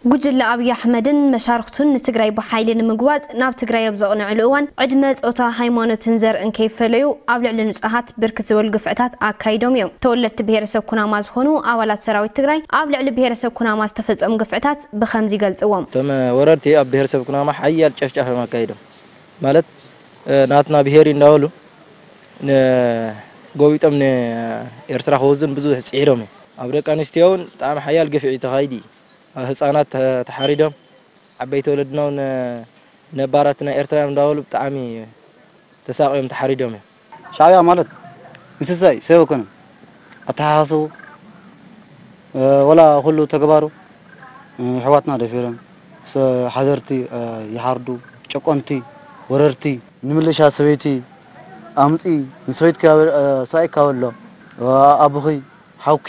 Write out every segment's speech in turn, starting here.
ጉጅለ ኣብይ ኣሕመድን መሻርክቱን ንትግራይ ብሓይሊ ንምግዋጽ ናብ ትግራይ ኣብ ዘቕንዕሉ እዋን ዕድመ፣ ጾታ፣ ሃይማኖትን ዘርእን ከይፈለዩ ኣብ ልዕሊ ንጹሃት ብርክት ዝበሉ ግፍዕታት ኣካይዶም እዮም። ተወለድቲ ብሄረሰብ ኩናማ ዝኾኑ ኣባላት ሰራዊት ትግራይ ኣብ ልዕሊ ብሄረሰብ ኩናማ ዝተፈጸሙ ግፍዕታት ብኸምዚ ይገልጽዎም። እቶም ወረርቲ ኣብ ብሄረሰብ ኩናማ ሓያል ጨፍጫፍ እዮም ኣካይዶም። ማለት ናትና ብሄር እንዳበሉ ጎቢጦም ንኤርትራ ክወዙን ብዙሕ ጽዒሮም እዮም። ኣብ ደቂ ኣንስትዮ እውን ብጣዕሚ ሓያል ግፍዒ ተኻይዲ። ህፃናት ተሓሪዶም፣ ዓበይቲ ወለድና እውን ነባራት ናይ ኤርትራ እዮም እንዳበሉ ብጣዕሚ ተሳቕዮም ተሓሪዶም እዮም። ሻዕብያ ማለት እንስሳ እዩ፣ ሰብ ኣይኮነን። ኣተሓሳስቡ፣ ወላ ኩሉ ተግባሩ፣ ኣሕዋትና ደፊሮም፣ ሓዘርቲ ይሓርዱ፣ ጨቆንቲ፣ ወረርቲ። ንምልሻ ሰበይቲ ኣምፂ፣ ንሰበይትኪ ሰብኣይካ በሎ፣ ኣቦኺ ሓውኪ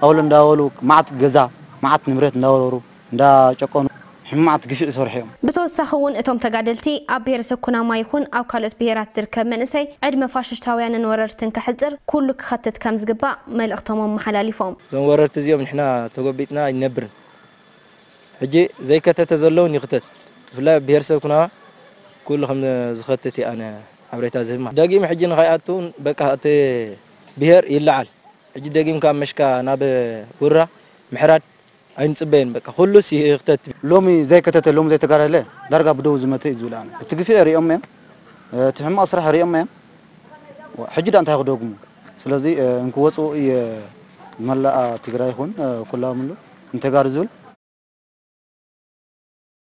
ኣውሎ እንዳበሉ፣ መዓት ገዛ፣ መዓት ንብረት እንዳወረሩ፣ እንዳጨቆኑ፣ ሕማቕ ግፍዒ ይሰርሑ እዮም። ብተወሳኺ እውን እቶም ተጋደልቲ ኣብ ብሄረሰብ ኩናማ ይኹን ኣብ ካልኦት ብሄራት ዝርከብ መንእሰይ ዕድመ ፋሽስታውያንን ወረርትን ከሕፅር ኩሉ ክኸትት ከም ዝግባእ መልእኽቶም ኣመሓላሊፎም። እዞም ወረርቲ እዚኦም ንሕና ተጎቢጥና ኣይንነብርን። ሕጂ ዘይከተተ ዘለውን ይኽተት። ብፍላይ ኣብ ብሄረሰብ ኩናማ ኩሉ ከም ዝኸትት እየ ኣነ ሓበሬታ ዝህብ ማለት። ደጊም ሕጂ ንኸይኣቱ እውን በቃ እቲ ብሄር ይለዓል። ሕጂ ደጊምካ መሽካ ናብ ውራ ምሕራድ ኣይንጽበይን። በቃ ኩሉስ ይኽተት። ሎሚ ዘይከተተ፣ ሎሚ ዘይተጋደለ ዳርጋ ብደው ዝመተ እዩ ዝብል ኣነ። እቲ ግፍዒ ሪኦም እዮም፣ እቲ ሕማቕ ስራሕ ሪኦም እዮም። ሕጂ ዳ እንታይ ክደግሙ? ስለዚ እንክወፁ እየ መላኣ ትግራይ ይኹን ኩላምሉ እንተጋሩ ዝብል